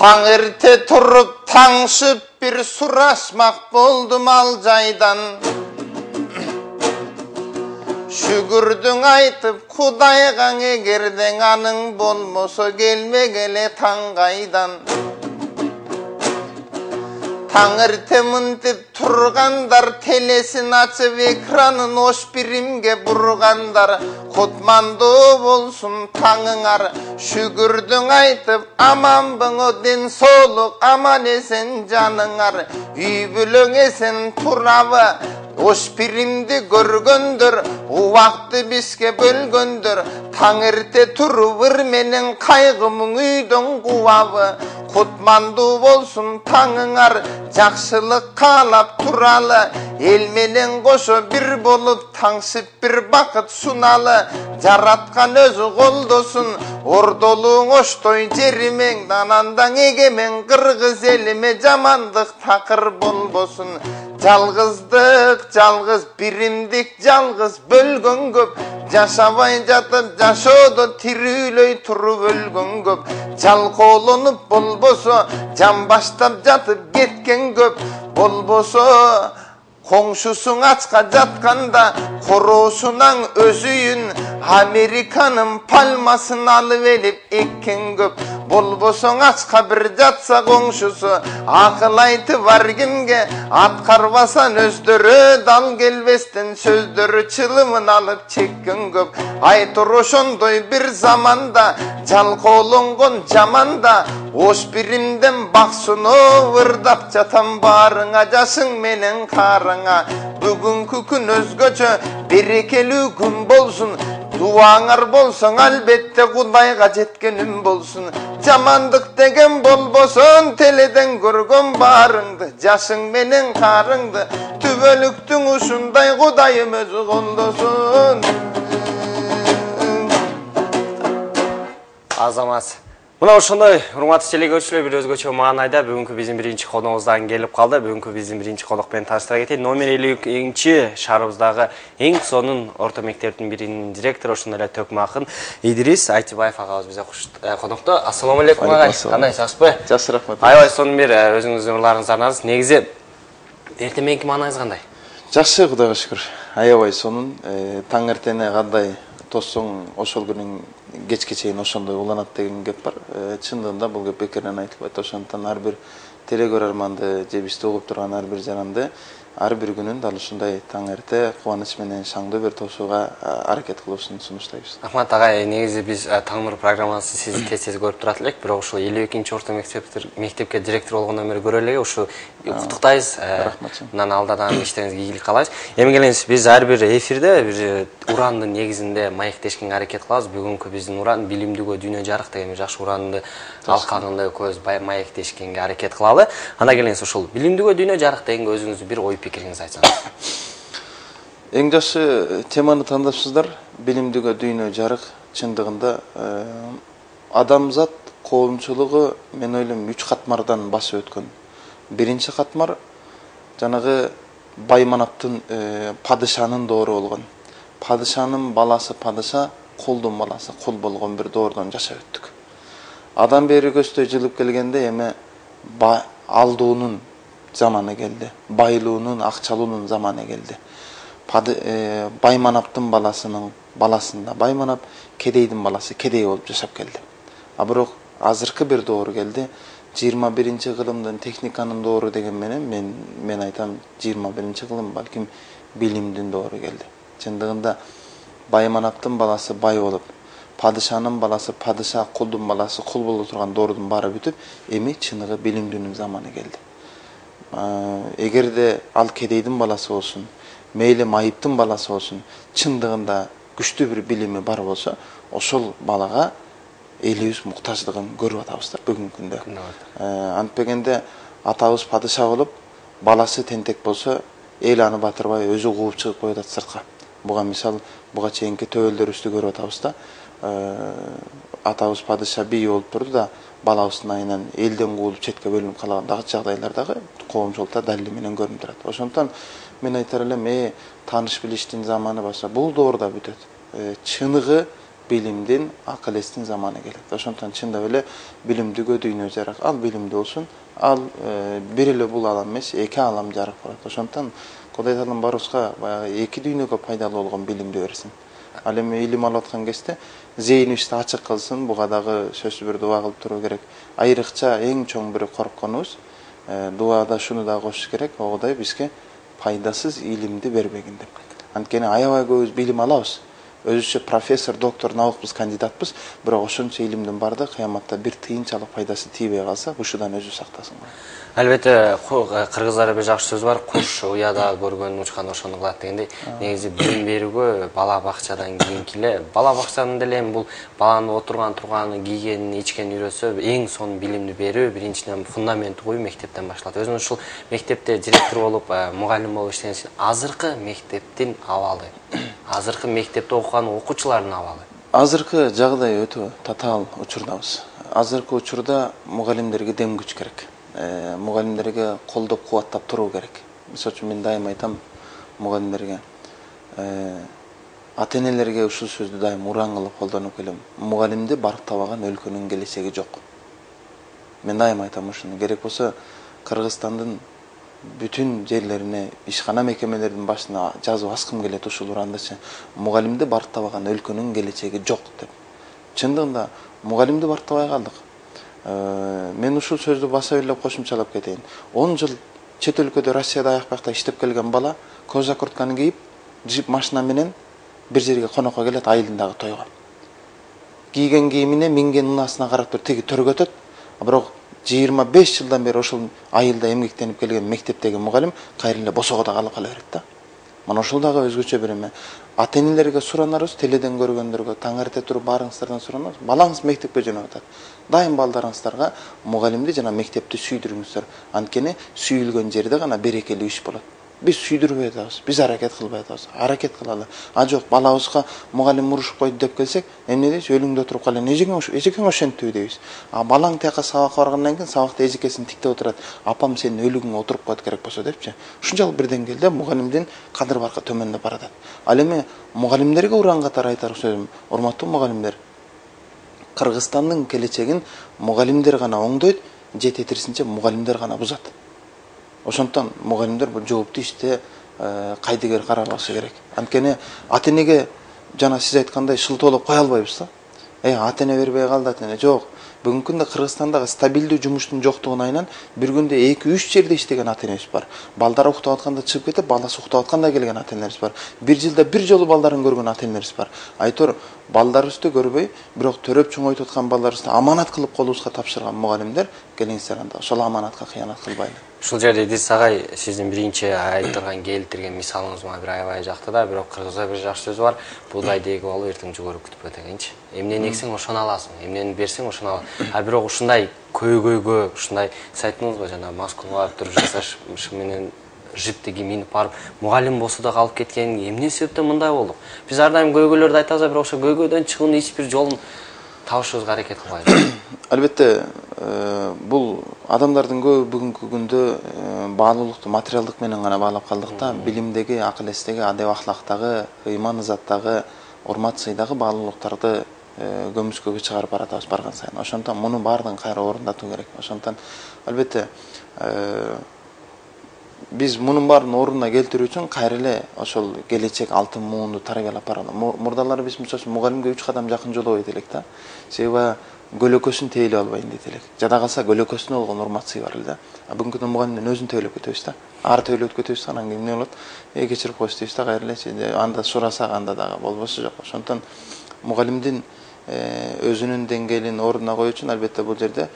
Таң эрте туруп таңшып bir surashmak boldum al jaydan. Şükürdün aytıp Kudayga egerden anın bolmoso gelmegele tangaydan. Tangırte mıntip turgandar telesin açıp ekranın hoş birimge burgandar. Kutmandı bolsun tangınar şükürdün aytıp aman bana den soluk aman esen canınar. Üybülün esen turavı hoş birimdi görgöndür. O vakti bizge bölgöndür. Tangırte turuvır menin kaygımın üydün kuvavı. Kutmandı bolsun tangınar jakşılık kalap turalı. El menen koşu bir bolup tangsıp bir bakıt sunalı. Jaratkan özü koldosun ordoluğun oştoy jerimen. Danandan egemen kırgız elime jamandık takır bolbosun. Жалгыздык, жалгыз биримдик, жалгыз бөлгөн көп. Жашабай жатып, жашоодо тирүүлөй туруп өлгөн көп. Жалкоолонуп болбосо, жан баштап жатып кеткен көп. Болбосо, коңшусуң ачка жатканда, короосунан өзүйүн Американын пальмасын алып элип эккен көп. Болбосоң ачка bir жатса коңшусу, акыл айтып бар кимге, аткарбасан өздөрү дал келбестен сөздөрү чылымын алып чеккен көп. Айтор ошондой бир заманда, жалкоолонгон жаманда, ош биримден баксыноо ырдап жатам баарыңа, жашың менен карыңа. Бүгүнкү күн өзгөчө, берекелүү күн болсун. Дуаңар болсоң албетте Кудайга жеткеним болсун. Жамандык деген болбосун, теледен көргөн баарыңды, жашың менен карыңды, түбөлүктүң ушундай Кудайым өзү колдосун. Азамат. Мына ошондой урматтуу телекөрүүчүлөр, бир өзгөчө маанайда бүгүнкү биздин биринчи коногубуздан келип калды. Бүгүнкү биздин биринчи конок менен тааныштыра кетейин. Номер 52 шаарыбыздагы эң сонун орто мектептин биринин директору, ошондой эле төкмө акын Идрис Айтибаев агабыз бизде конокто. Ассаламу алейкум агай. Кандай, жакшысызбы? Жакшы, рахмат. Аябай сонун бир өзүңүздүн ырларыңызды арнадыңыз. Негизи эртең мененки маанайыңыз кандай? Жакшы, Кудайга шүкүр. Аябай сонун. Таң эртене кандай тоссоң ошол күнүң кечке чейин ошондой уланат деген кеп бар. Чындыгында бул кеп бекерден айтылбайт. Ошондон ар бир телекөрөрманды же бизди угуп турган ар бир жаранды ар бир күнүн дал ушундай таң эрте кубаныч менен шаңдуу бир тосууга аракет кылуусун сунуштайбыз. Рахмат агай, негизи биз Таң нур программасын сизди тез көрүп турат элек, бирок ушул 52-орто мектепке директор болгондон бери көрө элек, ушу куттуктайбыз. Рахмат. Мындан алдадан иштериңизге ийгилик каалайбыз. Эми келиңиз, биз ар бир эфирде бир урандын негизинде маектешкенге аракет кылабыз. Бүгүнкү биздин уран билимдүүгө дүйнө жарык деген жакшы уранды алкагында көз маектешкенге аракет кылалы. Анда келиңиз, ушул билимдүүгө дүйнө жарык дегенге өзүңүздүн бир ой пикириңизди айтсаңыз. Эң жакшы теманы тандапсыздар. Билимдүүгө дүйнө жарык чындыгында адамзат коомчулугу мен ойлойм 3 катмардан басып өткөн. Биринчи катмар жанагы Байманаптын падышанын доору болгон. Падышанын баласы падыша, кулдун баласы кул болгон бир доордон жашап өттүк. Адам бери көздөй жылып келгенде эми алдуунун заманы келди. Байлуунун, акчалуунун заманы келди. Байманаптын баласында Байманап, кедейдин баласы кедей болуп жашап келди. А бирок азыркы бир доору келди. 21-кылымдын техниканын доору деген менен мен айтам 21-кылым балким билимдин доору келди. Чындыгында Байманаптын баласы бай болуп, падышанын баласы падыша, кулдун баласы кул боло турган доордун баары бүтүп, эми чыныгы билимдүүнүн заманы келди. Эгерде ал кедейдин баласы болсун, мейли майыптын баласы болсун, чындыгында күчтүү бир билими бар болсо, ошол балага элибиз муктаждыгын көрүп атабыз да бүгүнкү күндө. Антпегенде атабыз падыша болуп, баласы тентек болсо, эл аны батырбай өзү кууп чыгып коюп атат сыртка. Буга мисал, буга чейинки төбөлдөрүбүздү көрүп атабыз да. Атабыз падыша бий болуп турду да, балабыздын айынан элден куулуп четке бөлүнүп калган дагы жагдайлардагы коомчулукта далили менен көрүнүп турат. Ошондон мен айтар элем, тааныш билиштин заманы баса бул доорда бүтөт. Чыныгы билимдин, акыл эстин заманы келет. Ошондон чындап эле билимдүүгө дүйнө жарак. Ал билимдүү болсун. Ал бир эле бул алам эмес, эки алам жарык болот. Ошондон Кудай Таалам барыбызга баягы эки дүйнөгө пайдалуу болгон билимди берсин. Ал эми илим алып аткан кезде зээнибизди ачык кылсын. Буга дагы сөзсүз бир дуа кылып туруу керек. Айрыкча эң чоң бир коркконубуз дуада шуну да кошуш керек. Кудай бизге пайдасыз илимди бербегин деп. Анткени аябай көбүбүз билим алабыз. Өзүчө профессор, доктор, наукбуз, кандидатпыз, бирок ошончо илимдин баардыгы кыяматта бир тыйынчалык пайдасы тийбей калса, ушудан өзү сактасын. Албетте, кыргыздарда бир жакшы сөз бар, куш уяда көргөнүн учкан ошону кылат дегендей. Негизи билим берүүгө бала бакчадан кийинки эле, бала бакчанын деле эми бул баланын отурган, турганын, кийгенин, ичкенин үйрөтсө, эң сонун билимди берүү биринчиден фундамент коюу мектептен башталат. Өзүңүз ушул мектепте директор болуп, мугалим болуп иштеген үчүн азыркы мектептин абалы, азыркы мектепте окуган окуучулардын абалы. Азыркы жагдай өтө татаал учурдабыз. Азыркы учурда мугалимдерге дем күч керек. Мугалимдерге колдоп кубаттап туруу керек. Мисалы үчүн мен дайым айтам мугалимдерге, ата-энелерге ушул сөздү дайым ураан кылып колдонуп келем. Мугалимди барктабаган өлкөнүн келечеги жок. Мен дайым айтам ушуну. Керек болсо Кыргызстандын бүтүн жерлерине, ишкана мекемелердин башына жазып аскым келет ушул урандычы. Мугалимди барктабаган өлкөнүн келечеги жок деп. Чындыгында мугалимди барктабай калдык. Мен ушул сөздү баса белеп кошумчалап кетейин. 10 жыл чет өлкөдө, Россияда аяк бакта иштеп келген бала кожа куртканы кийип, джип машина менен бир жерге конокко келет айылындагы тойго. Кийген кийимине, минген унаасына карап туруп тиги төргө өтөт. Бирок 25 жылдан бери ошол айылда эмгектенип келген мектептеги мугалим кайра эле босогодо калып кала берет да. Мына ошол дагы өзгөчө бир эме. Ата-энелерге суранарбыз, теледен көргөндөргө таң эрте туруп баарыңыздардан суранабыз. Балаңыз мектепке жөнөп атат. Дайым балдарыңыздарга мугалимди жана мектепти сүйдүрүңүздөр. Анткени сүйүлгөн жерде гана берекелүү иш болот. Биз сүйдүрбөй атабыз, биз аракет кылбай атабыз. Аракет кылалы. Жок, балабызга мугалим урушуп койду деп келсек, эмне дейбиз? Өлүңдө туруп калайын. Эжекең ошентиби дейбиз. Балаң тияка сабакка баргандан кийин сабакта эжекесин тиктеп отурат. Апам сенин өлүгүңө отуруп коет керек болсо депчи. Ушунчалык бир деңгээлде мугалимдин кадыр баркы төмөндөп баратат. Ал эми мугалимдерге уран катары айтар сөзүм, урматтуу мугалимдер, Кыргызстандын келечегин мугалимдер гана оңдойт, же тетирисинче мугалимдер гана бузат. Ошондон мугалимдер бул жооптуу иште кайдыгер карабашы керек. Анткени ата-энеге жана сиз айткандай шылтоолоп кое албайбыз да. Ата-эне бербей калды, ата-эне жок. Бүгүнкү күндө Кыргызстандагы стабилдүү жумуштун жоктугуна айынан бир күндө 2-3 жерде иштеген ата-энебиз бар. Балдар уктап атканда чыгып кетип, баласы уктап атканда келген ата-энелерибиз бар. Бир жылда бир жолу балдарын көргөн ата-энелерибиз бар. Айтор балдарыбызды көрбөй, бирок төрөп чоңойтуп аткан балдарыбызды аманат кылып колубузга тапшырган мугалимдер келиңиздер анда ошол аманатка кыянат кылбайлы. Ушул жерде Идрис агай сиздин биринчи айтылган келтирген мисалыңыз мага бир аябай жакты да, бирок кыргызда бир жакшы сөз бар. Буугайды эгип алып эртең жүгөрүп күтпө дегенчи. Эмнени эксең ошону аласың, эмнени берсең ошону аласың. Бирок ушундай көйгөйгө, ушундай сиз айттыңызбы жана маскулга туруп жасаш менен жиптеги минип барып, мугалим болсо да калып кеткен, эмне себептен мындай болдук? Биз ар дайым көйгөйлөрдү айтабыз, бирок ошо көйгөйдөн чыгуунун эч бир жолун табышыбызга аракет кылбайбыз. Албетте, бул адамдардын көбү бүгүнкү күндө баалуулукту материалдык менен гана баалап калдык да. Билимдеги, акыл эстеги, адеп ахлактагы, ыйман ызаттагы, урмат сыйдагы баалуулуктарды көмүскөгө чыгарып баратабыз барган сайын. Ошондон мунун баардыгын кайра орундатуу керек. Ошондон албетте биз мунун баарын ордуна келтирүү үчүн кайра эле ошол келечек алтын муунду тарбиялап баралы. Мурдалары биз мисалы үчүн мугалимге 3 кадам жакын жолобойт элек да. Себеби көлөкөсүн тейлеп албайын дейт элек. Жада калса көлөкөсүнө болгон урмат сый бар эле да. Бүгүнкү күндө мугалимдин өзүн тейлеп кетебиз да. Ары тейлеп кетебиз, анан кийин эмне болот? Кечирип коюш дейбиз да, кайра эле анда сурасак анда дагы болбосу жок. Ошондон мугалимдин өзүнүн деңгээлин ордуна коюу үчүн албетте бул жерде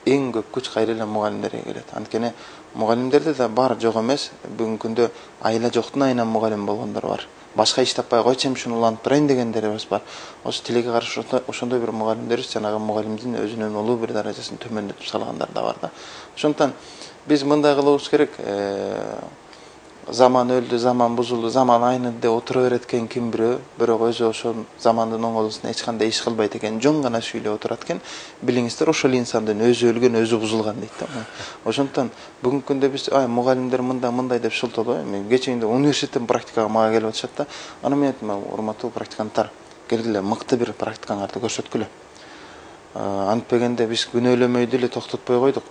эң көп күч кайра эле мугалимдерге келет. Анткени мугалимдерде да бар жок эмес. Бүгүнкү күндө айла жоктун айынан мугалим болгондор бар. Башка иш таппай койчу ушуну улантып турайын дегендерибиз бар. Ошо тилекке каршы ошондой бир мугалимдерибиз жанагы мугалимдин өзүнүн улуу бир даражасын төмөндөтүп салгандар да бар да. Ошондон биз мындай кылыбыз керек. Заман өлдү, заман бузулду, заман айныды деп отура берет экен ким бирөө, бирок өзү ошол замандын оңолусуна эч кандай иш кылбайт экен, жөн гана сүйлөп отурат экен. Билиңиздер, ошол инсандын өзү өлгөн, өзү бузулган дейт да. Ошондон бүгүнкү күндө биз мугалимдер мындай деп шылтоолой. Мен кечээ университеттен практикага мага келип атышат да. Аны мен айттым, урматтуу практиканттар, келгиле мыкты бир практикаңарды көрсөткүлө. Антпегенде биз күнөөлөмөйдү эле токтотпой койдук.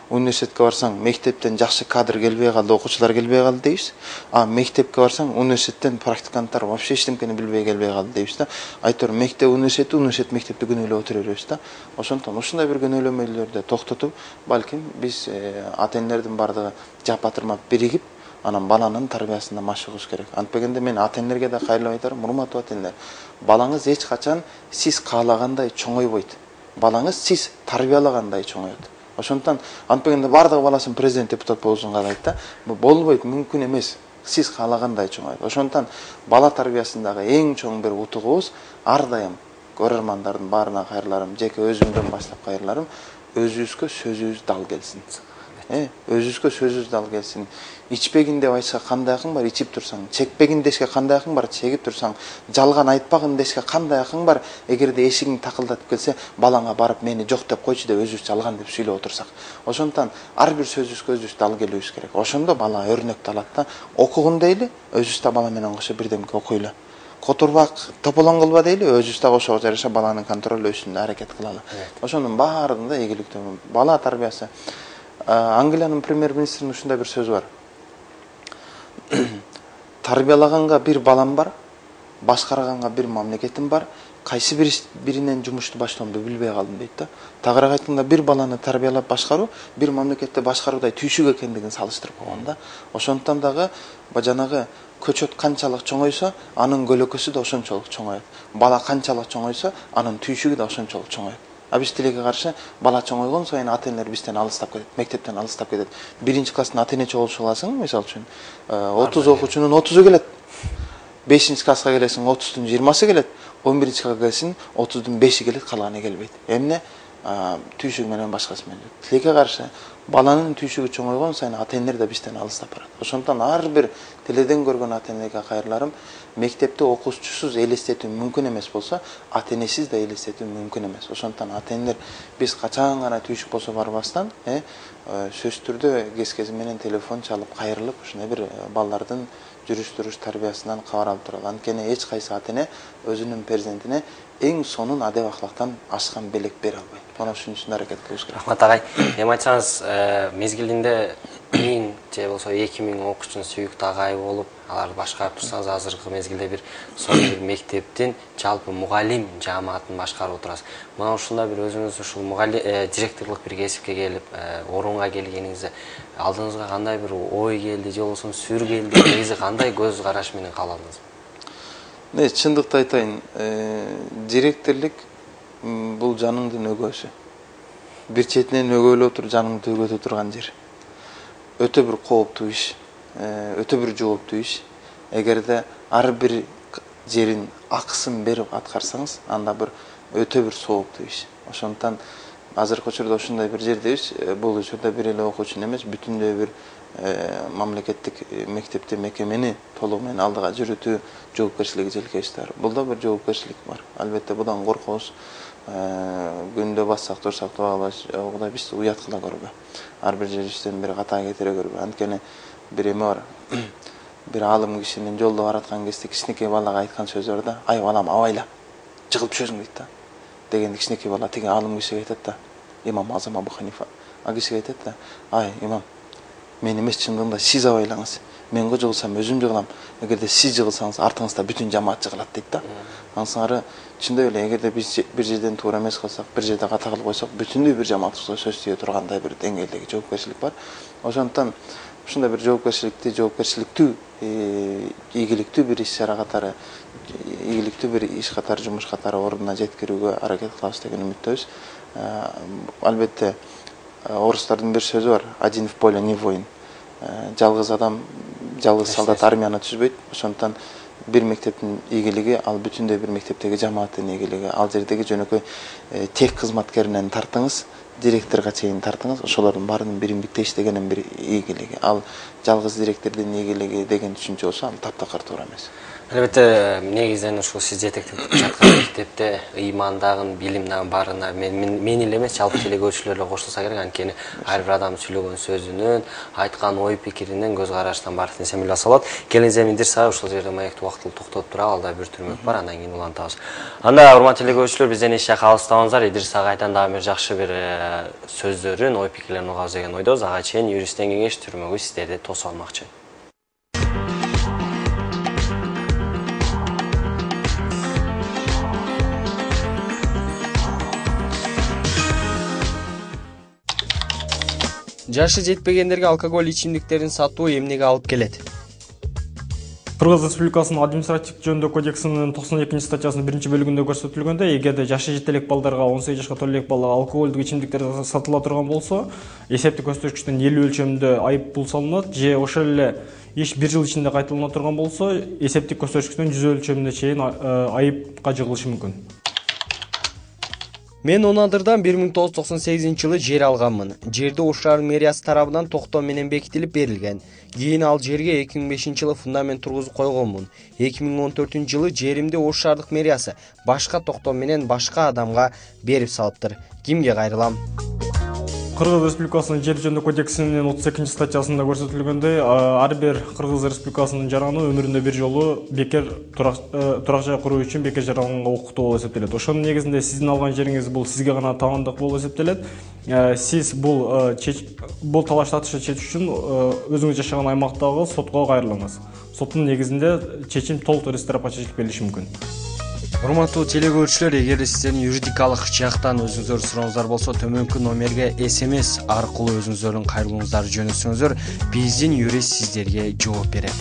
Университетке барсаң, мектептен жакшы кадр келбей калды, окуучулар келбей калды дейбиз. Мектепке барсаң, университеттен практиканттар вообще эчтемкени билбей келбей калды дейбиз да. Айтор мектеп университет мектепти күнөөлөп отура беребиз да. Ошондон ушундай бир күнөөлөмөлөрдү токтотуп, балким биз ата-энелердин бардыгы жапатырмап биригип, анан баланын тарбиясына машыгыбыз керек. Антпегенде мен ата-энелерге да кайрылып айтарым, урматтуу ата-энелер, балаңыз эч качан сиз каалагандай чоңойбойт. Балаңыз сиз тарбиялагандай чоңоет. Ошондон антпегенде бардыгы баласын президент депутат болсун каалайт да. Бул болбойт, мүмкүн эмес. Сиз каалагандай чоңоет. Ошондон бала тарбиясындагы эң чоң бир утугубуз ар дайым көрөрмандардын баарына кайрыларым, жеке өзүмдөн баштап кайрыларым, өзүбүзгө сөзүбүз дал келсин. Өзүбүзгө сөзүбүз дал келсин. Ичпегин деп айтса кандай акың бар, ичип турсаң. Чекпегин дешке кандай акың бар, чегип турсаң. Жалган айтпагын дешке кандай акың бар, эгерде эшигиң такылдатып келсе, балаңа барып мени жок деп койчу деп өзүбүз жалган деп сүйлөп отурсак. Ошондон ар бир сөзүбүзгө өзүбүз дал келүүбүз керек. Ошондо бала өрнөктү алат да. Окугун дейли, өзүбүз да бала менен кошо бирдемке окуйлу. Которбак, тополоң кылба дейли, өзүбүз да ошого жараша баланын контролдөөсүнө аракет кылалы. Ошонун баарында ийгиликтүү бала тарбиясы. Англиянын премьер-министринин ушундай бир сөзү бар. Тарбиялаганга бир балам бар, башкарганга бир мамлекетим бар, кайсы биринен жумушту баштоомду билбей калдым дейт да. Тагыраак айтканда, бир баланы тарбиялап башкаруу бир мамлекетти башкаруудай түйшүк экендигин салыштырып койгон да. Ошондон дагы жанагы көчөт канчалык чоңойсо, анын көлөкөсү да ошончолук чоңоет. Бала канчалык чоңойсо, анын түйшүгү да ошончолук чоңоет. Биз тилекке каршы бала чоңойгон сайын ата-энелер бизден алыстап кетет, мектептен алыстап кетет. 1-класстын ата-эне чогулушу кыласың, мисалы үчүн, 30 окуучунун 30-у келет. 5-класска келесиң, 30-тун 20-сы келет. 11-класска келесиң, 30-дун 5-и келет, калганы келбейт. Эмне? Түйшүк менен башкасы менен. Тилекке каршы баланын түйшүгү чоңойгон сайын ата-энелер да бизден алыстап барат. Ошондон ар бир теледен көргөн ата-энеге кайрыларым, мектепте окуучусуз элестетүү мүмкүн эмес болсо, ата-энесиз да элестетүү мүмкүн эмес. Ошондон ата-энелер биз качан гана түйшүк болсо барбастан, сөзсүз түрдө кез менен телефон чалып кайрылып, ушундай бир балдардын жүрүш-туруш тарбиясынан кабар алып туралы. Анткени эч кайсы ата-эне өзүнүн перзентине эң сонун адеп акылактан ашкан белек бере албайт. Мына ушун үчүн аракет кылабыз керек. Рахмат агай. Эми айтсаңыз, мезгилинде 1000 же болсо 2000 окуучунун сүйүктүү агайы болуп, аларды башкарып турсаңыз, азыркы мезгилде бир сонун бир мектептин жалпы мугалим жааматын башкарып отурасыз. Мына ушундай бир өзүңүз ушул директорлук бир кесипке келип, орунга келгениңизде алдыңызга кандай бир ой келди, же болбосо сүр келди, негизи кандай көз караш менен кааладыңыз? Чындыкты айтайын, директорлук бул жаныңдын өгөөсү. Бир четинен өгөөлөп туруп жаныңды өгөтө турган жер. Өтө бир кооптуу иш, өтө бир жооптуу иш. Эгерде ар бир жерин акысын берип аткарсаңыз, анда бир өтө бир сооктуу иш. Ошондон азыркы учурда ушундай бир жердебиз. Бул учурда бир эле окуучу эмес, бүтүндөй бир мамлекеттик мектепти, мекемени толугу менен алдыга жүрүтүү жоопкерчилиги желкебизде бар. Бул да бир жоопкерчилик бар. Албетте будан коркобуз. Күндө бассак, турсак, тугала биз уяткыла көрбө. Ар бир жерибизден бир ката кетире көрбө. Анткени бир эме бар. Бир аалым кишинин жолдо бараткан кезде кичинекей балага айткан сөзү бар да: "Ай балам, абайла, жыгылып түшөсүң" дейт да. Дегенде кичинекей бала тиги аалым кишиге айтат да, имам Азам Абу Ханифа. Кишиге айтат да: "Ай имам, мен эмес, чындыгында сиз абайлаңыз. Мен жыгылсам өзүм жыгылам. Эгерде сиз жыгылсаңыз, артыңызда бүтүн жамаат жыгылат" дейт да. Ансыңары чындап эле, эгерде биз бир жерден туура эмес кылсак, бир жерде ката кылып койсок, бүтүндөй бир жамаатыбызга сөз тийе тургандай бир деңгээлдеги жоопкерчилик бар. Ошондон ушундай бир жоопкерчиликтүү, ийгиликтүү бир иш-чара катары, ийгиликтүү бир иш катары, жумуш катары ордуна жеткирүүгө аракет кылабыз деген үмүттөбүз. Албетте, орустардын бир сөзү бар: "Один в поле не воин". Жалгыз адам, жалгыз солдат армияны түзбөйт. Ошондон бир мектептин ийгилиги, ал бүтүндөй бир мектептеги жамааттын ийгилиги. Ал жердеги жөнөкөй тех кызматкеринен тартыңыз, директорго чейин тартыңыз, ошолордун баарынын биримдикте иштегенин бир ийгилиги. Ал жалгыз директордун ийгилиги деген түшүнчө болсо, ал таптакыр туура эмес. Албетте, негизинен ушул сиз жетектеп жаткан мектепте ыймандагы, билимдагы барына мен эле эмес, жалпы телекөрүүчүлөр эле кошулса керек. Анткени ар бир адам сүйлөгөн сөзүнөн, айткан ой пикиринен, көз караштан баардык нерсе биле алса болот. Келиңиз эми Идирис ушул жерде маекти убактылуу токтотуп туралы, алда бир түрмөк бар, андан кийин улантабыз. Анда урматтуу телекөрүүчүлөр, бизден эч жакка алыстабаңыздар. Идирис агайдан дагы бир жакшы бир сөздөрүн, ой пикирлерин угабыз деген ойдобуз. Ага чейин юристтен кеңеш түрмөгү сиздерди тосуп алмакчы. Жашы жетпегендерге алкоголь ичимдиктерин сатуу эмнеге алып келет? Кыргыз Республикасынын административдик жөнүндө кодексинин 92 статьясынын 1-бөлүгүндө көрсөтүлгөндөй, эгерде жашы жете элек балдарга 18 жашка толо элек балага алкоголдук ичимдиктер сатыла турган болсо, эсептик көрсөткүчтөн 50 өлчөмүндө айып пул салынат, же ошол эле иш 1 жыл ичинде кайталана турган болсо, эсептик көрсөткүчтөн 100 өлчөмүнө чейин айыпка жыгылышы мүмкүн. Мен Онадырдан 1998-жылы жер алганмын. Жерди Ош шаарынын мэриясы тарабынан токтоо менен бекитилип берилген. Кийин ал жерге 2005-жылы фундамент тургузуп койгонмун. 2014-жылы жеримди Ош шаардык мэриясы башка токтоо менен башка адамга берип салыптыр. Кимге кайрылам? Кыргыз Республикасынын жер жөнүндө кодексинин 32 статьясында көрсөтүлгөндөй, ар бир Кыргыз Республикасынын жараны өмүрүндө бир жолу бекер турак жай куруу үчүн бекер жаралганга укуктуу болуп эсептелет. Ошонун негизинде сиздин алган жериңиз бул сизге гана таандык болуп эсептелет. Сиз бул талаш тартышты чечүү үчүн өзүңүз жашаган аймактагы сотко кайрылыңыз. Соттун негизинде чечим толук ресторапачылык берилиши мүмкүн. Урматтуу телекөрүүчүлөр, эгер сиздердин юридикалык жактан өзүңүздөр сурооңуздар болсо, төмөнкү номерге SMS аркылуу өзүңүздөрдүн кайрылууңуздарды жөнөтсөңүздөр, биздин юрист сиздерге жооп берет.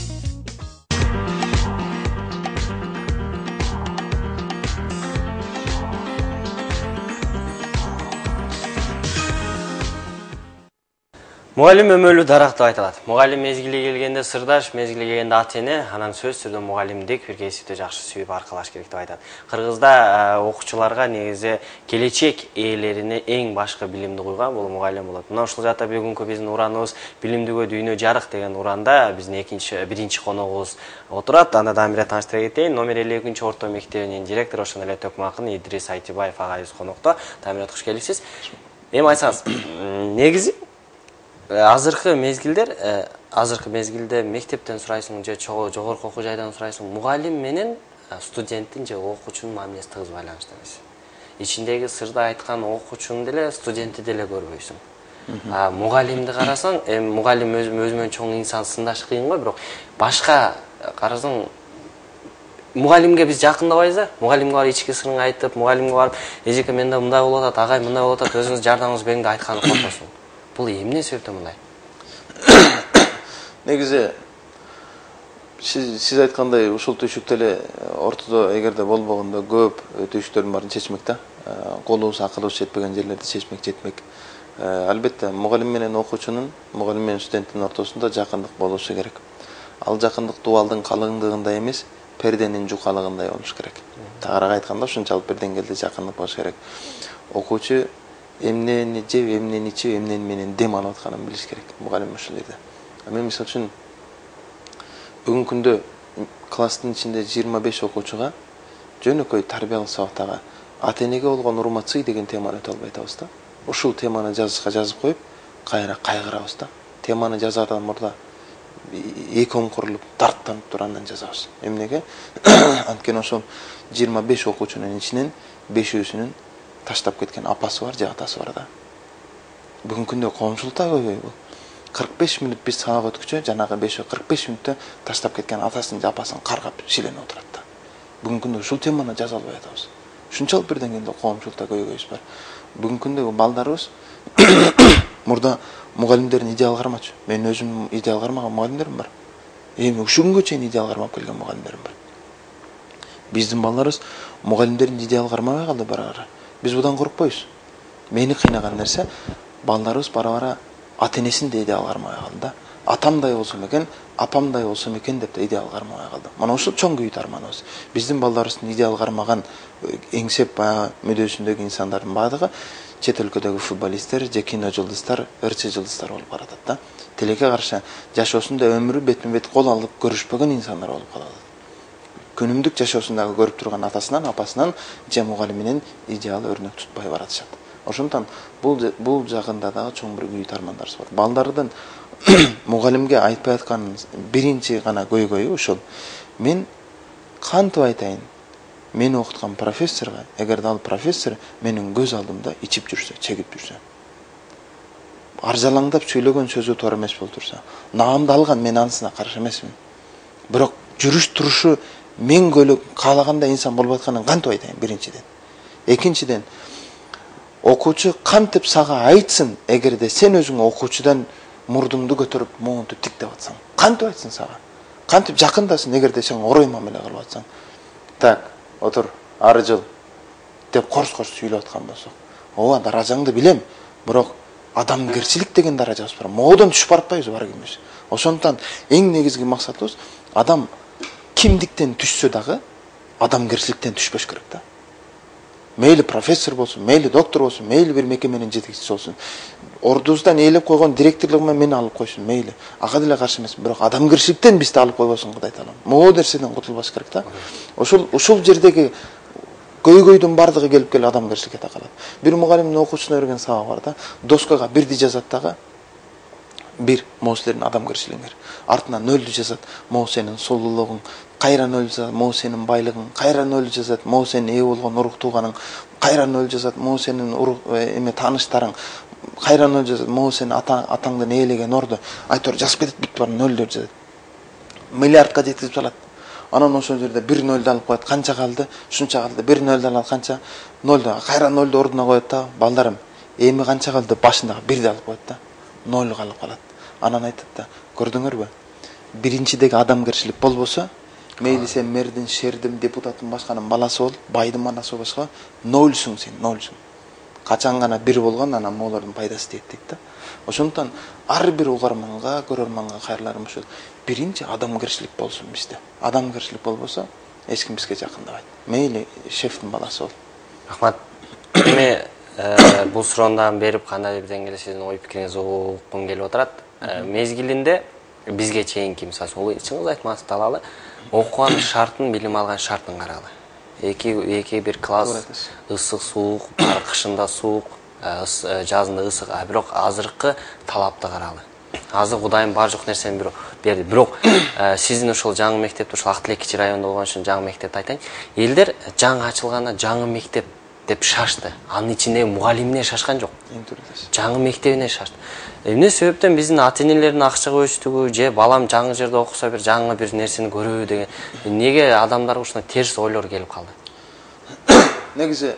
Мугалим өмөлүү дарак деп айтылат. Мугалим мезгили келгенде сырдаш, мезгили келгенде ата-эне, анан сөзсүз түрдө мугалимдик бир кесипти жакшы сүйүп аркалаш керек деп айтат. Кыргызда окуучуларга негизи келечек ээлерине эң башкы билимди куйган бул мугалим болот. Мына ушул жакта бүгүнкү биздин ураныбыз билимдүүгө дүйнө жарык деген уранда биздин биринчи коногубуз отурат. Анда дагы бир тааныштыра кетейин. Номер 52 орто мектебинин директору, ошондой эле төкмө акын Идирис Айтыбаев агайыбыз конокто. Тамират, кош келипсиз. Эми айтсаңыз, негизи азыркы мезгилде мектептен сурайсың же жогорку окуу жайдан сурайсың, мугалим менен студенттин же окуучунун мамилеси тыгыз байланыштуу эмес. Ичиндеги сырды айткан окуучуну деле, студентти деле көрбөйсүң. Мугалимди карасаң, мугалим өзүнөн чоң инсан, сындаш кыйын го, бирок башка карасаң, мугалимге биз жакындабайбыз да. Мугалимге барып ички сырыңды айтып, мугалимге барып, эжеке менде мындай болуп атат, агай мындай болуп атат, өзүңүз жардамыңыз бериңди айтканы коркосуң. Бул эмне себептен мындай? Негизи сиз айткандай ушул түйшүктө эле ортодо эгерде болбогондо көп түйшүктөрдүн баарын чечмек да. Колубуз, акылыбыз жетпеген жерлерди чечмек жетмек. Албетте мугалим менен окуучунун, мугалим менен студенттин ортосунда жакындык болушу керек. Ал жакындык дубалдын калыңдыгында эмес, перденин жукалыгындай болуш керек. Тагыраак айтканда ушунчалык бир деңгээлде жакындык болуш керек. Окуучу эмнени жеп, эмнени ичип, эмнени менен дем алып атканын билиш керек мугалим ушул жерде. Мен мисалы үчүн бүгүнкү күндө класстын ичинде 25 окуучуга жөнөкөй тарбиялык сабактагы ата-энеге болгон урмат-сый деген теманы өтө албай атабыз да. Ушул теманы жазып коюп, кайра кайгырабыз да. Теманы жазардан мурда эки оңкурулуп, дарттанып туруп андан жазабыз. Эмнеге? Анткени ошол 25 окуучунун ичинен 5-өсүнүн таштап кеткен апасы бар, же атасы бар да. Бүгүнкү күндө коомчулукта көбөй бул. 45 мүнөт биз сабак өткүчө, жанагы 45 мүнөттө таштап кеткен атасын же апасын каргап шиленип отурат да. Бүгүнкү күндө ушул теманы жаза албай атабыз. Ушунчалык бир деңгээлде коомчулукта көйгөйүбүз бар. Бүгүнкү күндөгү балдарыбыз мурда мугалимдердин идеал кармачу. Мен өзүм идеал кармаган мугалимдерим бар. Эми ушул күнгө чейин идеал кармап келген мугалимдерим бар. Биздин балдарыбыз мугалимдердин идеал кармабай калды бара-бара. Биз будан коркпойбуз. Мени кыйнаган нерсе, балдарыбыз бара-бара ата-энесин да идеал кармабай калды да. Атамдай болсом экен, апамдай болсом экен деп да идеал кармабай калды. Мына ушул чоң күйүт арманыбыз. Биздин балдарыбыздын идеал кармаган эңсеп баягы мүдөөсүндөгү инсандардын баардыгы чет өлкөдөгү футболисттер же кино жылдыздар, ырчы жылдыздар болуп баратат да. Тилекке каршы жашоосунда өмүрү бетме бет кол алып көрүшпөгөн инсандар болуп калат. күнүмдүк жашоосундагы көрүп турган атасынан, апасынан же мугалиминен идеал өрнөк тутпай баратышат. Ошондон бул жагында дагы чоң бир күйүү тармандарыбыз бар. Балдардын мугалимге айтпай аткан биринчи гана көйгөйү ушул. Мен кантип айтайын? Мени окуткан профессорго, эгерде ал профессор менин көз алдымда ичип жүрсө, чегип жүрсө, аржалаңдап сүйлөгөн сөзү туура эмес болуп турса, наамды алган, мен анысына каршы эмесмин. Бирок жүрүш турушу мен каалагандай инсан болуп атканын кантип айтайын биринчиден. Экинчиден, окуучу кантип сага айтсын, эгерде сен өзүң окуучудан мурдуңду көтөрүп, моунтуп тиктеп атсаң, кантип айтсын сага? Кантип жакындасын, эгерде сен орой мамиле кылып атсаң? Так, отур, ары жыл деп корс-корс сүйлөп аткан болсок, ооба, даражаңды билем, бирок адамгерчилик деген даражабыз бар. Моодон түшүп баратпайбыз бар кимибиз. Ошондон эң негизги максатыбыз адам кимдиктен түшсө дагы адамгерчиликтен түшпөш керек да. Мейли профессор болсун, мейли доктор болсун, мейли бир мекеменин жетекчиси болсун. Ордубуздан ээлеп койгон директорлугума мени алып койсун, мейли. Ага деле каршы эмесмин, бирок адамгерчиликтен бизди алып койбосун, Кудай таалам. Могу нерседен кутулбаш керек да. Ушул жердеги көйгөйдүн бардыгы келип адамгерчиликке такалат. Бир мугалимдин окуучусуна берген сабагы бар да. Доскага бирди жазат дагы, бир могу силердин адамгерчилигиңер. Артынан нөлдү жазат, могу сенин сулуулугуң, кайра нөл жазат, могу сенин байлыгың, кайра нөл жазат, могу сенин ээ болгон урук тууганың, кайра нөл жазат, могу сенин тааныштарың, кайра нөл жазат, могу сенин атаңдын ээлеген орду. Айтор жазып кетет, бүт бар нөлдөр жазат. Миллиардка жеткизип салат. Анан ошол жерде бир нөлдү алып коет, канча калды? Ушунча калды. Бир нөлдү алат, канча? Нөлдү. Кайра нөлдү ордуна коет да, балдарым, эми канча калды? Башындагы бирди алып коет да. Нөл калып калат. Анан айтат да, көрдүңөрбү? Биринчидеги адамгерчилик болбосо, мейли сен мэрдин, шердин, депутаттын башканын баласы бол, байдын баласы башка, нөлсүң сен, нөлсүң. Качан гана бир болгон, анан могулардын пайдасы тиет дейт да. Ошондон ар бир угарманга, көрөрманга кайрыларым ушул. Биринчи адамгерчилик болсун бизде. Адамгерчилик болбосо, эч ким бизге жакындабайт. Мейли шефтин баласы бол. Рахмат. Эми бул суроондон берип кандай бир деңгээлде сиздин ой пикириңизди угуккум келип отурат. Мезгилинде бизге чейинки, мисалы үчүн, чыңгыз айтматовду алалы, окуган шартын, билим алган шартын карагыла. Эки бир класс, ысык, суук, кышында суук, жазында ысык, бирок азыркы талапты карагыла. Азыр Кудайым бар жок нерсени берди. Бирок сиздин ошол жаңы мектепте, ошол Ак Тилекчи районунда болгон үчүн жаңы мектепти айтайын. Элдер жаңы ачылганда жаңы мектеп деп шашты. Анын ичинде мугалимине шашкан жок. Жаңы мектебине шашты. Эмне себептен биздин ата-энелердин акча көчтүгү же балам жаңы жерде окуса бир жаңы бир нерсени көрөбү деген неге адамдарга ушундай терс ойлор келип калды? Негизи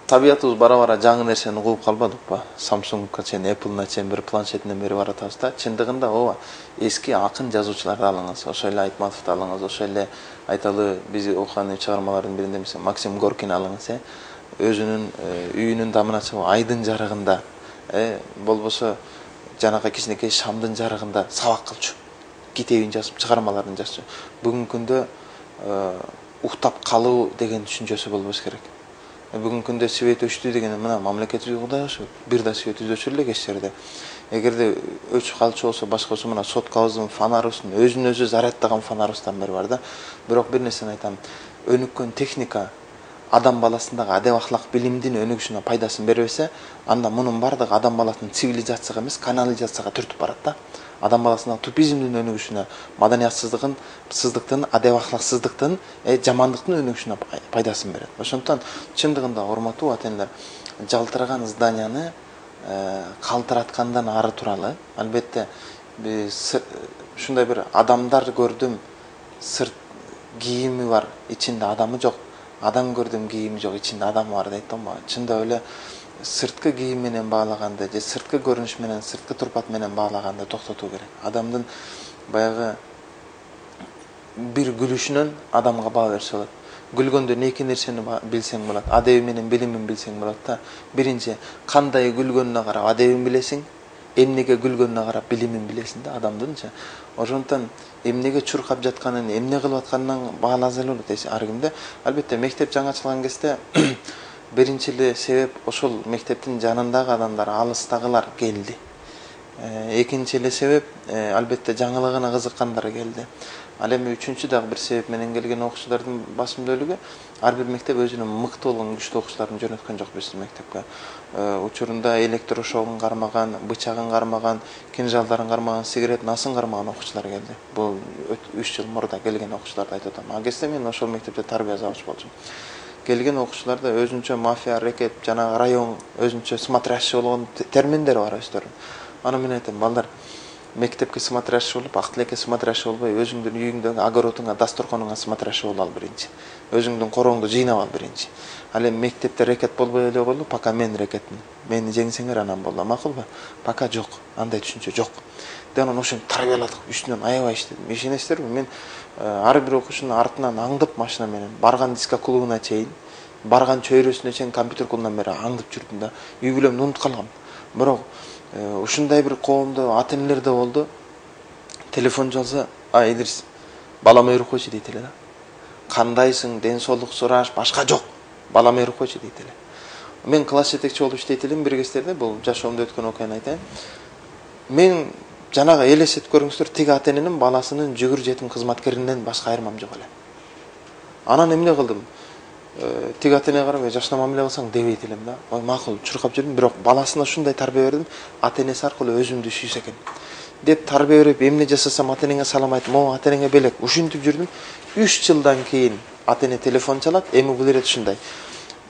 табиятыбыз бара-бара жаңы нерсени кууп калбадыкпы? Samsung'ка чейин, Apple'на чейин бир планшетинен бери баратабыз да. Чындыгында ооба, эски акын жазуучуларды алыңыз, ошол эле Айтматовду алыңыз, ошол эле айталы биз окуган чыгармалардын биринде мисалы Максим Горкин алыңыз, өзүнүн үйүнүн дамына чыгып айдын жарыгында, болбосо жанакы кичинекей шамдын жарыгында сабак кылчу, китебин жазып, чыгармаларын жазчу. Бүгүнкү күндө уктап калуу деген түшүнчөсү болбош керек. Бүгүнкү күндө свет өчтү деген мына мамлекетибизге Кудай ошо бир да свет өчүр эле кеч жерде. Эгерде өчүп калчу болсо башкасы мына соткабыздын фонарыбыздын өзүн өзү зарядтаган фонарыбыздан бери бар да. Бирок бир нерсени айтам. Өнүккөн техника адам баласындагы адеп ахлак билимдин өнүгүшүнө пайдасын бербесе, анда мунун бардыгы адам баласынын цивилизацияга эмес, канализацияга түртүп барат да. Адам баласынын тупизмдин өнүгүшүнө, маданиятсыздыктын, адеп ахлаксыздыктын, жамандыктын өнүгүшүнө пайдасын берет. Ошондон чындыгында урматтуу ата-энелер, жалтыраган зданияны калтыраткандан ары туралы, албетте ушундай бир адамдар көрдүм, сырт кийими бар, ичинде адамы жок. Адам көрдүм, кийими жок, ичинде адамы бар дейт да. Чындап эле сырткы кийим менен баалаганды же сырткы көрүнүш менен, сырткы турпат менен баалаганды токтотуу керек. Адамдын баягы бир күлүшүнөн адамга баа берсе болот. Гүлгөндөн эки нерсени билсең болот. Адеби менен билимин билсең болот да. Биринчи, кандай гүлгөнүнө карап адебин билесиң, эмнеге гүлгөнүнө карап билимин билесиң да адамдынчы. Ошондон эмнеге чуркап жатканын, эмне кылып атканынан бааласа эле болот ар кимде. Албетте мектеп жаңы ачылган кезде биринчи эле себеп ошол мектептин жанындагы адамдар, алыстагылар келди. Экинчи эле себеп албетте жаңылыгына кызыккандар келди. Ал эми үчүнчү дагы бир себеп менен келген окуучулардын басымдуулугу ар бир мектеп өзүнүн мыкты болгон күчтүү окуучуларын жөнөткөн жок биздин мектепке. Учурунда электрошогун кармаган, бычагын кармаган, кинжалдарын кармаган, сигарет насын кармаган окуучулар келди. Бул 3 жыл мурда келген окуучуларды айтып атам. А кезде мен ошол мектепте тарбия завуч болчумун. Келген окуучуларда өзүнчө мафия, рэкет, жана район өзүнчө смотрящий болгон терминдер бар өздөрүнүн. Аны мен айтам, балдар, мектепке смотрящий болуп, ак тилекке смотрящий болбой, өзүңдүн үйүңдөгү огородуңа, дасторконуңа смотрящий боло ал биринчи. Өзүңдүн корооңду жыйнап ал биринчи. Ал эми мектепте рекет болбой эле болду, пока мен рекетмин. Мени жеңсеңер анан болду. Макулбу? Пока жок. Андай түшүнчө жок. Анан ошентип тарбияладык, үстүнөн аябай иштедим. Ишенесиздерби? Мен ар бир окуучунун артынан аңдып машина менен барган диско клубуна чейин, барган чөйрөсүнө чейин компьютер клубунан бери аңдып жүрдүм да. Үй бүлөмдү унутуп калгам. Бирок ушундай бир коомдо ата-энелер да болду. Телефон жалса, Идрис, балам өйрөп койчу дейт эле да. Кандайсың, ден соолук сураш, башка жок. Балам өйрөп койчу дейт эле. Мен класс жетекчи болуп иштейт элем бир кездерде, бул жашоомдо өткөн окуяны айтайын. Мен жанагы элестетип көрүңүздөр, тиги ата-эненин баласынын жүгүр жетим кызматкеринен башка айырмам жок эле. Анан эмне кылдым? Тиги ата-энеге карап, жашына мамиле кылсаң дебейт элем да. Макул, чуркап жүрдүм, бирок баласына ушундай тарбия бердим, ата-энеси аркылуу өзүмдү сүйсө экен деп тарбия берип, эмне жасасам ата-энеңе салам айтып, могу ата-энеңе белек, ушинтип жүрдүм. 3 жылдан кийин ата-эне телефон чалат, эми бул ирет ушундай.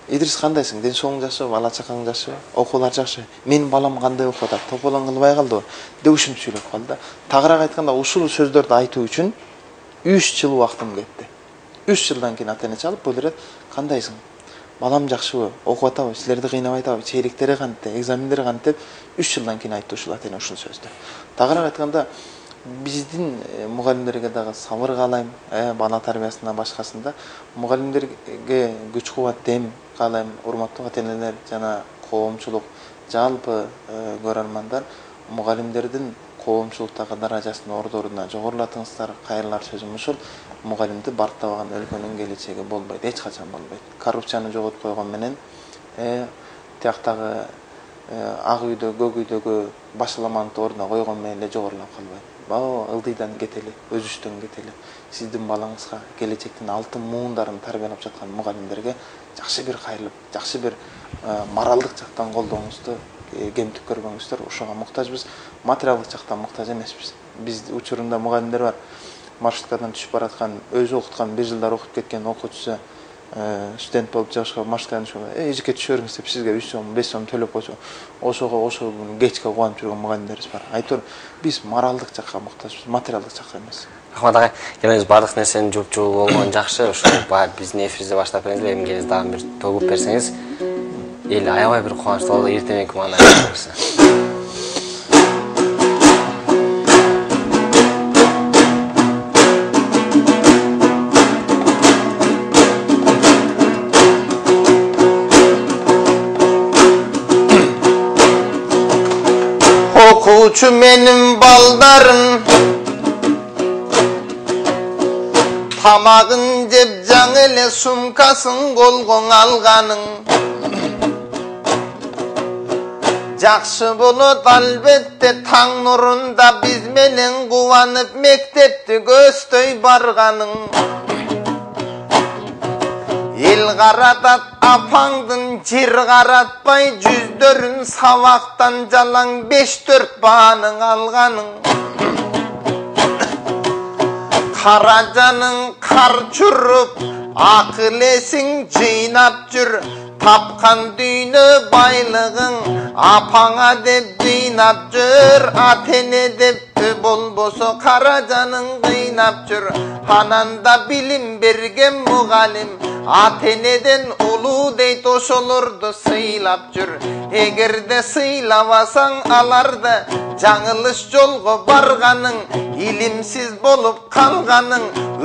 Идрис, кандайсың? Ден соолугуң жакшыбы? Бала чакаң жакшыбы? Окуулар жакшыбы? Менин балам кандай окуп атат? Тополоң кылбай калдыбы? деп ушинтип сүйлөп калды да. Тагыраак айтканда, ушул сөздөрдү айтуу үчүн 3 жыл убактым кетти. 3 жылдан кийин ата-эне чалып, бул ирет, кандайсың? Балам жакшыбы? Окуп атабы? Силерди кыйнабай атабы? Чейриктери кантип, экзамендери кантип деп 3 жылдан кийин айтты ушул ата-эне ушул сөздү. Тагыраак айтканда, биздин мугалимдерге дагы сабыр каалайм, бала тарбиясында башкасында. Мугалимдерге күч кубат дем каалайм, урматтуу ата-энелер жана коомчулук, жалпы көрөрмандар, мугалимдердин коомчулуктагы даражасын ордоруна жогорулатыңыздар. Кайрылар сөзүм ушул: мугалимди барктабаган өлкөнүн келечеги болбойт, эч качан болбойт. Коррупцияны жоготуп койгон менен тияктагы ак үйдө, көк үйдөгү башаламанты ордуна койгон менен эле жогорулап калбайт. Баа ылдыйдан кетели, өзүчтөн кетели. Сиздин балаңызга келечектин алтын муундарын тарбиялап жаткан мугалимдерге жакшы бир кайрылып, жакшы бир моралдык жактан колдооңузду, кемтик көрбөңүздөр. Ошого муктажбыз, материалдык жактан муктаж эмеспиз. Биз учурунда мугалимдер бар, маршруткадан түшүп бараткан, өзү окуткан, 1 жылдар окуп кеткен окуучусу студент болуп жашка маршруткадан түшүп, эжикке түшөрүңүз деп сизге 3 сом, 5 сом төлөп койсо, ошого кечке кубанып жүргөн мугалимдерибиз бар. Айтор, биз моралдык жакка муктажбыз, материалдык жакка эмес. Рахмат агай, келиңиз бардык нерсенин жупчулуу болгон жакшы. Ошо биздин эфирибизди баштап бериңиз, эмгегиңиз дагы бир тогуп берсеңиз, эл аябай бир кубанычтуу болот, эртең маана берсе. Okuvchi menin baldarım, tamagın jep jaң ele sumkasın kolgon alganın. Jakşı bolot albette taң nurunda biz menen kuvanıp mektepti көздөй barganın. El qaratat apаңдын жер qaratpay жүздөрүн сабактан жалаң 5-4 баанын алганын. Каражанын кар чуруп акыл эсиң жыйнап жүр, тапкан дүйнө байлыгың апаңа деп жыйнап жүр, ата-эне деп болбосо каражанын кыйнап жүр. Ананда билим берген мугалим ата-энеден улуу дейт, ошолорду сыйлап жүр. Эгерде сыйлабасаң аларды жаңылыш жолго барганың, илимсиз болуп калганың,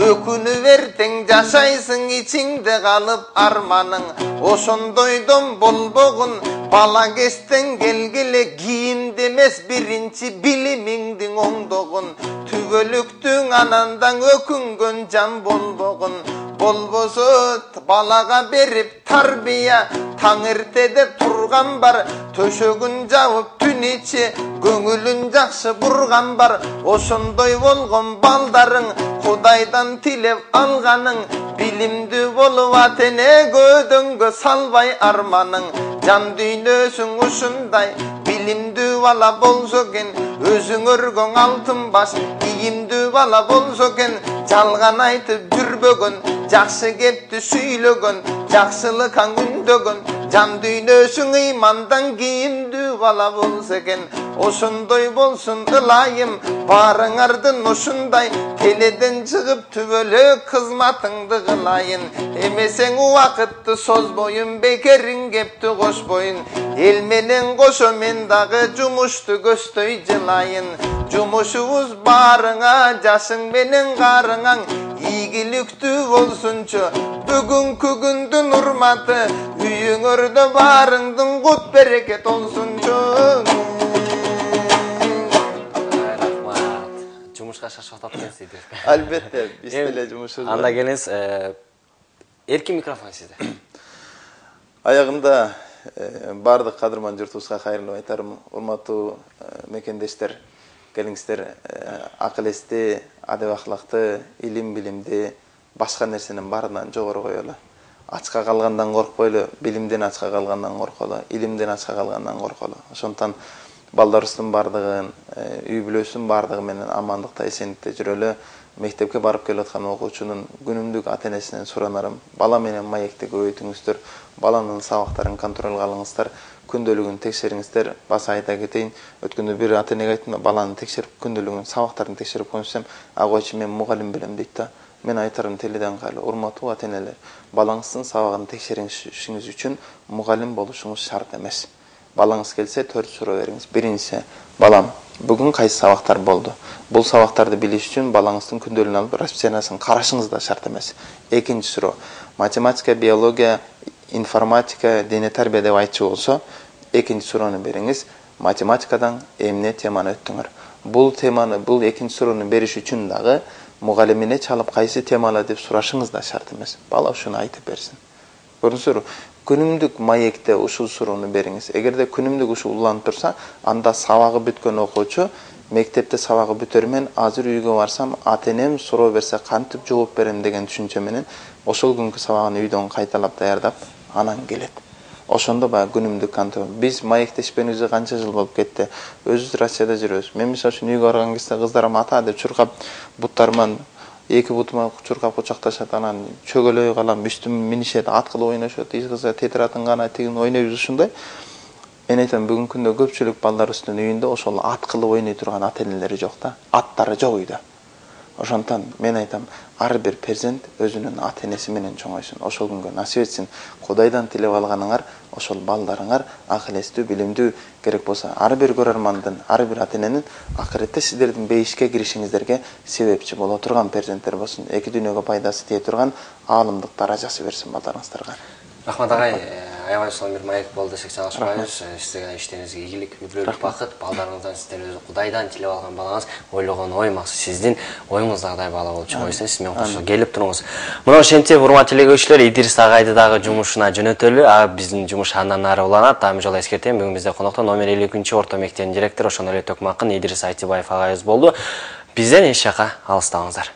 өкүнүп эртең жашайсың ичиңде калып арманың. Ошондойдон болбогун бала кезден келгиле, кийимде эмес биринчи билимиңдин оңдогун, түгөлүктүң анандан өкүнгөн жан болбогун. Болбосо балага берип тарбия, таң эртеде турган бар, төшөгүн жабып түн ичи көңүлүн жакшы бурган бар. Ошондой болгон балдарың Кудайдан тилеп алганың, билимдүү болуп атене көдөнгө салбай арманың. Жан дүйнөсүң ушундай билимдүү бала болсо экен, өзүң өргөн алтын баш ийимдүү бала болсо экен, жалган айтып жүрбөгөн, жакшы кепти сүйлөгөн, жакшылыкка үндөгөн, жан дүйнөсүң ыймандан кийимдүү бала болсо экен. Ошондой болсун ылайым баарыңардын ушундай, келеден чыгып түбөлүк кызматыңды кылайын. Эмесең убакытты созбойун, бекерин кепти кошпойун, эл менен кошо мен дагы жумушту көздөй жылайын. Жумушубуз баарыңа, жашың менен карыңаң ийгиликтүү болсунчу, бүгүнкү күндүн урматы үйүңөрдө баарыңдын кут берекет болсунчу. Жумушка шашып атат экенсиз. Албетте, биз деле жумушубуз. Анда келиңиз, эркин микрофон сизде. Аягында бардык кадырман журтубузга кайрылып айтарым. Урматтуу мекендештер, келиңиздер, акыл эсти, адеп ахлакты, илим билимди, башка нерсенин баарынан жогору коелу. Ачка калгандан коркпойлу, билимден ачка калгандан корколу, илимден ачка калгандан корколу. Ошондон балдарыбыздын бардыгын, үй бүлөсүнүн бардыгы менен амандыкта, эсендикте жүрөлү. Мектепке барып келип аткан окуучунун күнүмдүк ата-энесинен суранарым. Бала менен маекти көбөйтүңүздөр, баланын сабактарын контролго алыңыздар, күндөлүгүн текшериңиздер. Баса айта кетейин, өткөндө бир ата-энеге айттым да, баланы текшерип, күндөлүгүн, сабактарын текшерип коюңузсам, агойчу мен мугалим белем дейт да. Мен айтарым теледен кайлы, урматтуу ата-энелер, балаңыздын сабагын текшеришиңиз үчүн мугалим болушуңуз шарт эмес. Балаңыз келсе 4 суроо бериңиз. Биринчиси, балам, бүгүн кайсы сабактар болду? Бул сабактарды билиш үчүн балаңыздын күндөлүгүн алып расписаниясын карашыңыз да шарт эмес. Экинчи суроо, математика, биология, информатика, дене тарбия деп айтчу болсо, экинчи суроону бериңиз. Математикадан эмне теманы өттүңөр? Бул теманы, бул экинчи суроону бериш үчүн дагы мугалимине чалып кайсы темалы деп сурашыңыз да шарт эмес. Бала ушуну айтып берсин. Көрүңүздөр, күнүмдүк маекте ушул суроону бериңиз. Эгерде күнүмдүк ушул уланып турса, анда сабагы бүткөн окуучу мектепте сабагы бүтөр мен азыр үйгө барсам, ата-энем суроо берсе кантип жооп берем деген түшүнчө менен ошол күнкү сабагын үйдөн кайталап даярдап анан келет. Ошондо баягы күнүмдүк кантип. Биз маектешпенибизге канча жыл болуп кетти. Өзүбүз Россияда жүрөбүз. Мен мисалы үчүн үйгө барган кезде кыздарым ата деп чуркап, буттарыман эки бутума чуркап кучакташат, анан чөгөлөй калам, үстүм минишет, ат кылып ойношот, изгиза тетратын гана тигин ойнойбуз ушундай. Мен айтам, бүгүнкү күндө көпчүлүк балдарыбыздын үйүндө ошол ат кылып ойной турган ата-энелери жок да, аттары жок үйдө. Ошондон мен айтам, ар бир перзент өзүнүн ата-энеси менен чоңойсун. Ошол күнгө насип этсин. Кудайдан тилеп алганыңар ошол балдарыңар акыл эстүү, билимдүү керек болсо, ар бир көрөрмандын, ар бир ата-эненин акыретте сиздердин бейишке киришиңиздерге себепчи боло турган перзенттер болсун. Эки дүйнөгө пайдасы тие турган аалымдык даражасы берсин балдарыңыздарга. Рахмат агай, аябай сонун бир маек болду десек чагылышпайбыз. Сизге иштериңизге ийгилик, үй бүлөлүк бакыт, балдарыңыздан сиздер өзү Кудайдан тилеп алган балаңыз ойлогон ой максат сиздин оюңуздагыдай бала болуп чоңойсун. Сиз менен кошо келип туруңуз. Мына ошентип, урматтуу телекөрүүчүлөр, Идирис агайды дагы жумушуна жөнөтөлү. Биздин жумуш андан ары уланат. Дагы жолу эскертем, бүгүн бизде конокто номер 52 орто мектебинин директору, ошондой эле Төкмакын Идирис Айтыбаев агайыбыз болду. Бизден эч жака алыстабаңыздар.